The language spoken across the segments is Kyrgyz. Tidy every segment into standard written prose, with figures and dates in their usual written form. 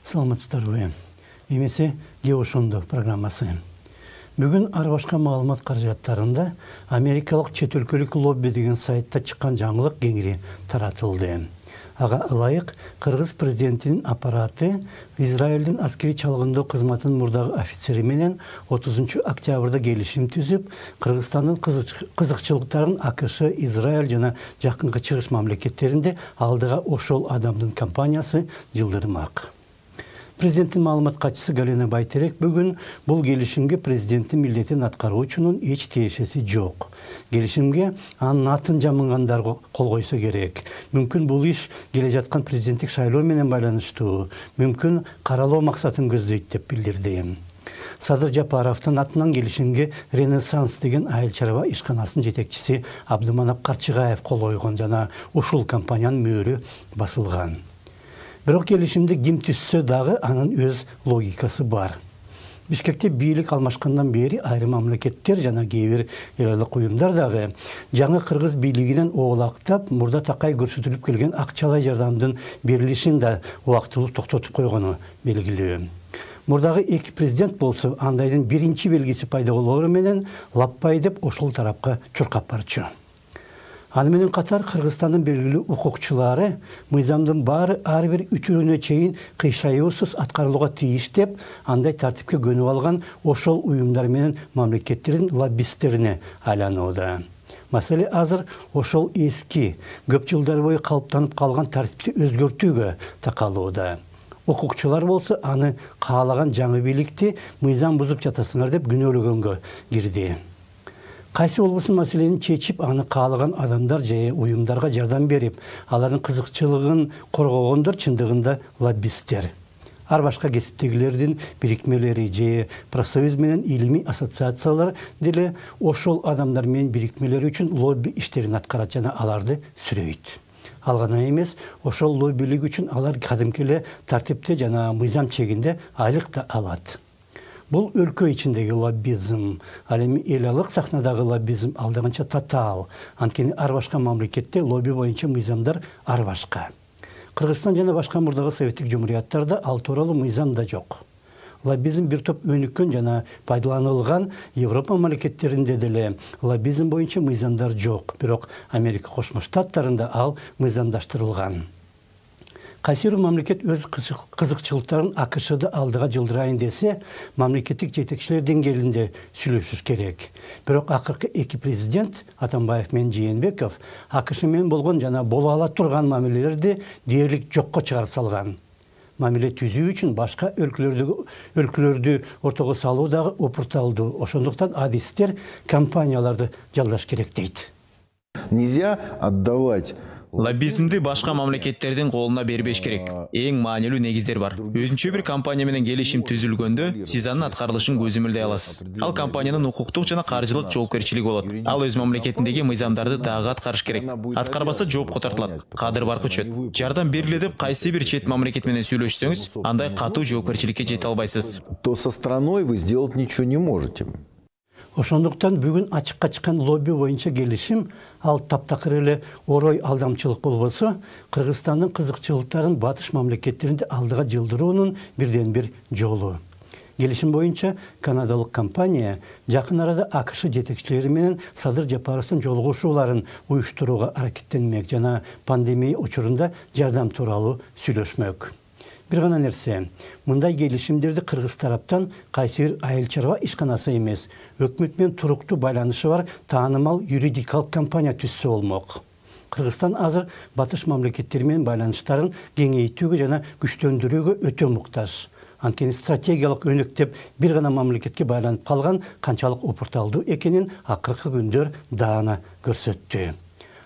Саламатсыздарбы. Эмесе Геошондо программасы. Бүгүн ар башка маалымат каражаттарында Америкалык чет өлкөлүк лобби деген сайтта чыккан жаңылык кеңири таратылды. Ага ылайык Кыргыз президентинин аппараты Израилдин аскери чалгындоо кызматынын мурдагы офицери менен 30 октябрда келишим түзүп, Кыргызстандын кызыкчылыктарын АКШ, Израиль жана жакынкы чыгыш мамлекеттеринде алдыга ошол адамдын компаниясы жылдырмак. Президенттин маалымат катчысы Галина Байтерек бүгүн бул келишимге президенттин милдетин аткаруучунун эч тиешеси жок. Келишимге анын атын жамынгандар кол койсо керек. Мүмкүн бул иш келе жаткан президенттик шайлоо менен байланыштуу, мүмкүн каралоо максатын көздөйт деп билдирди. Садыр Жапаровдун атынан келишимге Ренессанс деген айыл чарба ишканасынын жетекчиси Абдыманап Карчыгаев кол койгон жана ушул компаниянын мөөрү басылган. Бирок келишимди ким түзсө дагы анын өз логикасы бар. Бишкекте бийлик алмашкандан бери айрым мамлекеттер жана кээ бир элдик уюмдар дагы жаңы кыргыз бийлигинен оолактап, мурда такай көрсөтүлүп келген акчалай жардамдын берилишин да убактылуу токтотуп койгону белгилүү. Мурдагы эки президент болсо андайдын биринчи белгиси пайда болоору менен лаппай деп ошол тарапка чуркап барчу. Аны менен катар Кыргызстандын белгилүү укукчулары мыйзамдын баары ар бир үтүрүүнө чейин кыйшаюусуз аткарылууга тийиш деп андай тартипке көнүп алган ошол уюмдар менен мамлекеттердин лоббисттерине айланууда. Маселе азыр ошол эски, көп жылдар бою калыптанып калган тартипти өзгөртүүгө такалууда. Укукчулар болсо аны каалаган жаңы бийликти мыйзам бузуп жатасыңар деп күнөөлөгөнгө кирди. Кайсы болбосун маселени чечип, аны каалаган адамдар же уюмдарга жардам берип, алардын кызыкчылыгын коргогондор чындыгында лоббисттер. Ар башка кесиптегилердин бирикмелери же профсоюз менен илимий ассоциациялар деле ошол адамдар менен бирикмелери үчүн лобби иштерин аткарат жана аларды сүрөйт. Ал гана эмес, ошол лоббилик үчүн алар кадимки эле тартипте жана мыйзам чегинде айлык да алат. Бул өлкө ичиндеги лоббизм, ал эми эл алык сахнадагы лоббизм алдаганча татаал. Анткени ар башка мамлекетте лобби боюнча мыйзамдар ар башка. Кыргызстан жана башка мурдагы советтик жумуриятарда ал тууралуу мыйзам да жок. Лоббизм бир топ өнүккөн жана пайдаланылган Европа мамлекеттеринде деле лоббизм боюнча мыйзамдар жок, бирок Америка Кошмо Штаттарында ал мыйзамдаштырылган. Кайсы бир мамлекет өз кызыкчылыктарын АКШда алдыга жылдырайын десе, мамлекеттик жетекчилер деңгээлинде сүйлөшүш керек. Бирок акыркы эки президент, Атамбаев менен Жээнбеков, АКШ менен болгон жана боло ала турган мамилелерди дээрлик жокко чыгарып салган. Мамиле түзүү үчүн башка өлкөлөрдү ортого салуу дагы опурталдуу. Ошондуктан адистер компанияларды жалдаш керек дейт. Нельзя отдавать лоббизмди башка мамлекеттердин колуна бербеш керек. Эң маанилүү негиздер бар. Өзүнчө бир компания менен келишим түзүлгөндө, сиз анын аткарылышын көзөмөлдөй аласыз. Ал компаниянын укуктук жана каржылык жоопкерчилиги болот. Ал өз мамлекетиндеги мыйзамдарды дагы аткарыш керек. Аткарбаса жоопко тартылат, кадыр баркы өчөт. Жардам бериле деп кайсы бир чет мамлекет менен сүйлөшсөңүз, андай катуу жоопкерчиликке жете албайсыз. То со страной вы сделать ничего не можете. Ошондуктан бүгүн ачыкка чыккан лобби боюнча келишим ал таптакыр эле орой алдамчылык болбосо, Кыргызстандын кызыкчылыктарын батыш мамлекеттеринде алдыга жылдыруунун бирден бир жолу. Келишим боюнча канадалык компания жакын арада АКШ жетекчилери менен Садыр Жапаровдун жолугушууларын уюштурууга аракеттенмек жана пандемия учурунда жардам тууралуу сүйлөшмөк. Бир гана нерсе, мындай келишимдерди кыргыз тараптан кайсы бир айыл чарба ишканасы эмес, өкмөт менен туруктуу байланышы бар таанымал юридикалык компания түзсө болмок. Кыргызстан азыр батыш мамлекеттери менен байланыштарын кеңейтүүгө жана күчтөндүрүүгө өтө муктаж. Анткени стратегиялык өнөктөп бир гана мамлекетке байланып калган канчалык опурталдуу экенин акыркы күндөр даана көрсөттү.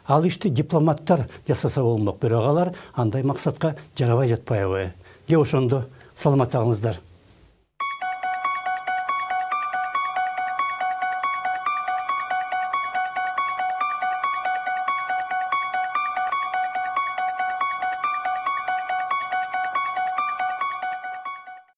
Ал ишти дипломаттар жасаса болмок, бирок алар андай максатка жарабай жатпайбы? Ошондо саламат калыңыздар.